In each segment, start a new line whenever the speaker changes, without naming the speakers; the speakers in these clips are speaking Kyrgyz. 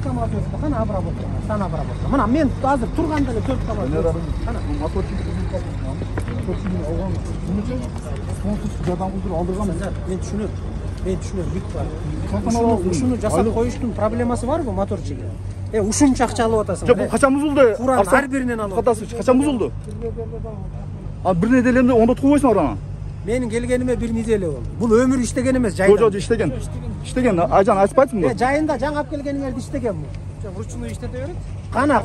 камаз өттү. Кана обработка, сан обработка. Мына мен азыр турганда эле 4 камаз өттү. Кана
моторчу алган. Эмнече? Конкурс жардам кылдырып алдырган.
Мен түшүнөм, бик бар. Ушуну жасап коюштун проблемасы барбы моторчуга? Ушунча акча алып атасың.
Жок, бул качан бузулду?
Куран ар биринен алып.
Качан бузулду? Бир неделе эмне ондо тугубайсың ана?
Менин келгениме бир неделе болду. Бул өмүр иштеген эмес, жайда.
Жок, иштеген. Иштеген. Айжан айтпайсыңбы?
Жайында жаңы алып келгениңерди иштеген бул.
Вручную иштете берет.
Кана,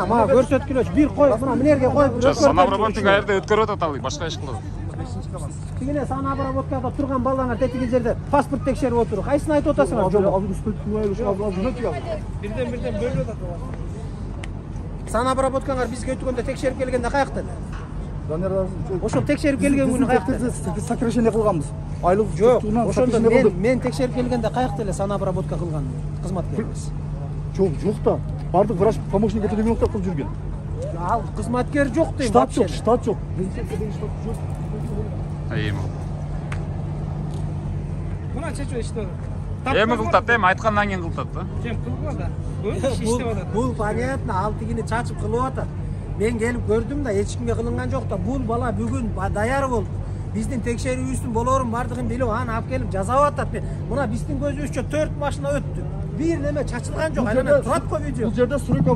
мага көрсөткүлөчү. Бир кой, мына менерге коюп.
Сан обработка каерде өткөрүп атат ал, башка иш кылат.
Тигине сан обработкада турган балаңар тетиги жерде паспорт текшерип отуруп, кайсыны айтып атасыңар?
Бирден бөлүп атат.
Сан обработкаңар бизге өткөндө текшерип келгенде каякта?
Данияр
ошол текшерип келген күнү каякта?
Сокращение кылганбыз. Айлык
жок, ошондо мен текшерип келгенде каякта эле сан обработка кылган кызматкерибиз.
Жок да. Бардык врач помощник этелеминовдор кылып жүргөн.
Ал кызматкер жок дейм.
Штат жок.
Мына чечүү иштеп атат.
Эми кылтат, айткандан кийин кылтат да.
Жем кылган да. Иштеп атат.
Бул понятно, ал тигини чачып кылып атат. Мен келип көрдүм да, эч кимге кылынган жок да. Бул бала бүгүн даяр болду. Биздин текшерүүбүздүн болорун бардыгын билип, аны алып келип жасап атат. Мына биздин көзүбүзчө 4 машина өттү. Бир неме чачылган жок. Анан турат го видео.
Бул жерде сурок